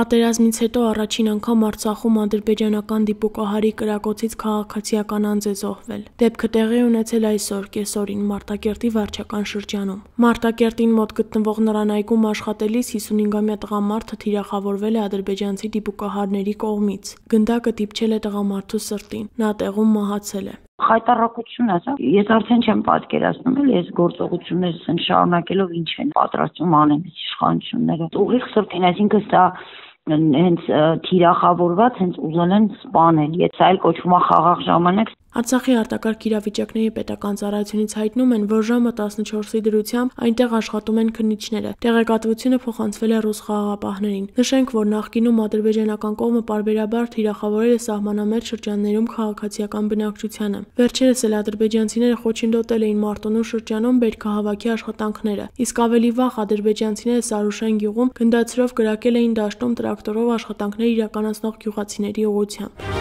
Պատերազմից հետո առաջին անգամ Արցախում ադրբեջանական դիպուկահարի կրակոցից քաղաքացիական անձ է զոհվել։ Դեպքը տեղի ունեցել այսօր կեսօրին Մարտակերտի վարչական շրջանում։ Մարտակերտին մոտ գտնվող նրան այգում աշխատելիս 55-ամյա տղամարդը թիրախավորվել է ադրբեջանցի դիպուկահարների կողմից։ Գնդակը դիպչել է տղամարդու սրտին։ Նա տեղում մահացել է։ Խայտառակություն է, ես արդեն չեմ պատկերացնում, ես գործողություններս շարունակելով ինչ են պատրաստում անեն իշխանությունները։ Ուղիղ սրտին, այսինքն սա հենց թիրախավորված, հենց ուզել են սպանել, եթե այլ կոչվում է խաղաղ ժամանակ։ Արցախի արտակարգ իրավիճակների պետական ծառայությունից հայտնում են, որ ժամը 14-ի դրությամբ այնտեղ աշխատում են քննիչները։ Տեղեկատվությունը փոխանցվել է ռուս խաղաղապահներին։ Նշենք, որ նախկինում ադրբեջանական կողմը պարբերաբար թիրախավորել է սահմանամերձ շրջաններում քաղաքացիական բնակչությանը։ Վերջերս էլ ադրբեջանցիները խոչընդոտել էին Մարտունու շրջանում բերքահավաքի աշխատանքները, իսկ ավելի վաղ ադրբեջանցիները Սարուշեն գյուղում գնդացրով կրակել էին դաշտում տրակտորով աշխատանքներ իրականացնող գյուղացիների ուղղությամբ։